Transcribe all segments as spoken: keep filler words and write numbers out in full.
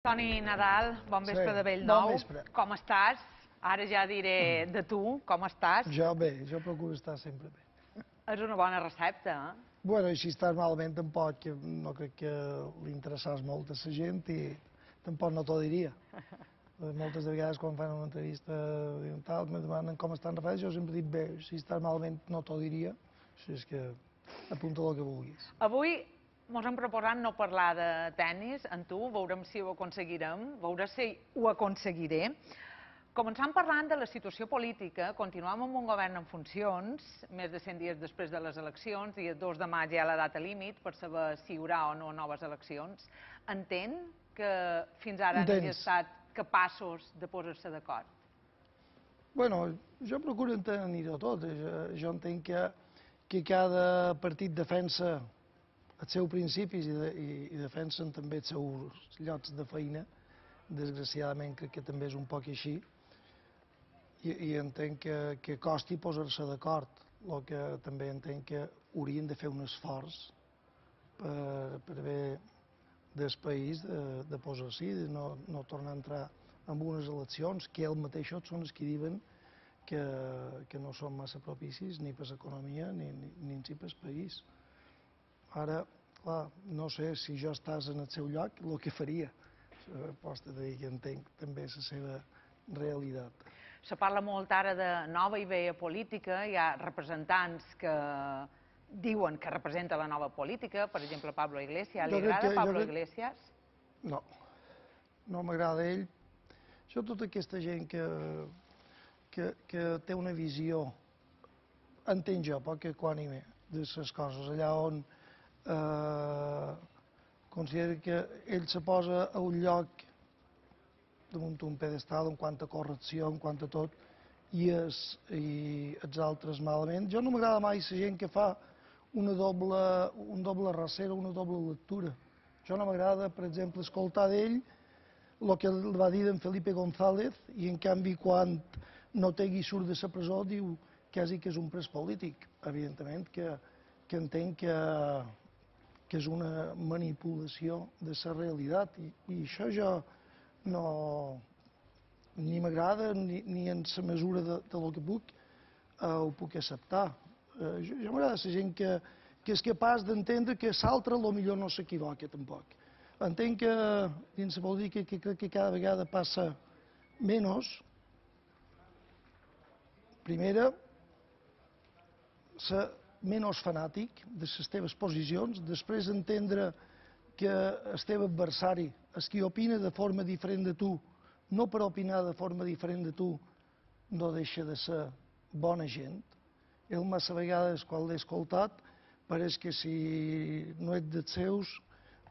Toni Nadal, bon vespre Sí, de bell bon nou. vespre. Com estàs? Ara ja diré de tu, com estàs? Jo bé, jo procuro estar sempre bé. És una bona recepta, eh? Bueno, i si estàs malament tampoc, que no crec que li interessàs molt a la gent i tampoc no t'ho diria. Moltes de vegades quan fan una entrevista diuen tal, me demanen com estan Rafael, jo sempre dic bé, si estàs malament no t'ho diria, així és que apunta el que vulguis. Avui mos hem proposat no parlar de tennis amb tu, veurem si ho aconseguirem, veurem si ho aconseguiré. Començant parlant de la situació política, continuem amb un govern en funcions, més de cent dies després de les eleccions, i el dos de maig hi ha la data límit per saber si hi haurà o no noves eleccions. Entén que fins ara no hagi estat capaços de posar-se d'acord? Bueno, jo procuro entenir-ho tot. Jo, jo entenc que, que cada partit defensa els seus principis i, de, i, i defensen també els seus llocs de feina. Desgraciadament crec que també és un poc així. I, i entenc que, que costi posar-se d'acord. El que també entenc que haurien de fer un esforç per, per bé del país de, de posar-s'hi, de no, no tornar a entrar en unes eleccions que ells mateixos són els que diuen que, que no són massa propicis ni per l'economia ni, ni, ni en si per el país. Ara, clar, no sé si jo estàs en el seu lloc, el que faria. Pots dir que entenc també la seva realitat. Se parla molt ara de nova i vella política, hi ha representants que diuen que representa la nova política, per exemple Pablo Iglesias. Li agrada Pablo Iglesias? No, no m'agrada ell. Jo tota aquesta gent que, que, que té una visió, entenc jo, poc equànime de les coses, allà on eh, considera que ell se posa a un lloc damunt un pedestal en quant a correcció, en quant a tot, i, es, i els altres malament. Jo no m'agrada mai la gent que fa una doble, un doble rasera, una doble lectura. Jo no m'agrada, per exemple, escoltar d'ell el que va dir d'en Felipe González i en canvi quan no té i surt de la presó diu quasi que és un pres polític. Evidentment que, que entenc que, que és una manipulació de la realitat i, i això jo no ni m'agrada ni, ni en la mesura de, de lo que puc eh, ho puc acceptar. Eh, jo jo m'agrada la gent que, que és capaç d'entendre que l'altre potser no s'equivoca tampoc. Entenc que dins la política que crec que cada vegada passa menys. Primera, ser menys fanàtic de les teves posicions, després entendre que el teu adversari, el que opina de forma diferent de tu, no per opinar de forma diferent de tu, no deixa de ser bona gent. Ell massa vegades, quan l'he escoltat, pareix que si no ets dels seus,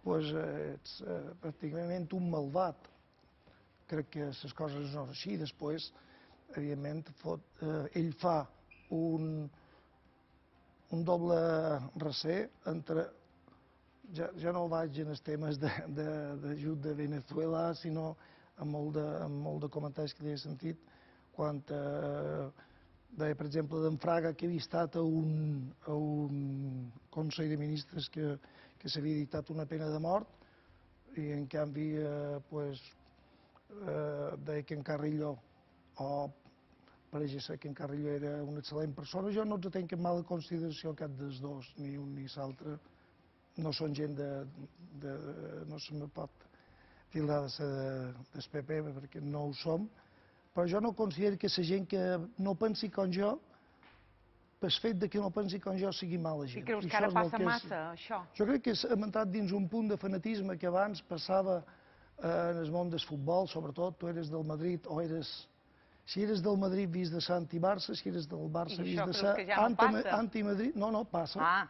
doncs ets eh, pràcticament un malvat. Crec que les coses no són així. Després, evidentment, fot, eh, ell fa un, un doble recer entre Ja, ja no vaig en els temes d'ajut de, de, de Venezuela, sinó amb molt de, amb molt de comentaris que he sentit quan eh, deia, per exemple, d'en Fraga, que havia estat a un, a un Consell de Ministres que, que s'havia dictat una pena de mort i en canvi eh, pues, eh, deia que en Carrillo, o pareix ser que en Carrillo era una excel·lent persona. Jo no els tenc en mala consideració cap dels dos, ni un ni l'altre. No són gent de... de no se me pot tildar de ser del P P perquè no ho som, però jo no considero que la gent que no pensi com jo, pel fet que no pensi com jo, sigui mala gent. I creus que ara passa massa, això? Jo crec que hem entrat dins un punt de fanatisme que abans passava en el món del futbol, sobretot, tu eres del Madrid o eres... Si eres del Madrid, vis de ser anti-Barça, si eres del Barça, vis de ser anti-Madrid... No, no, passa.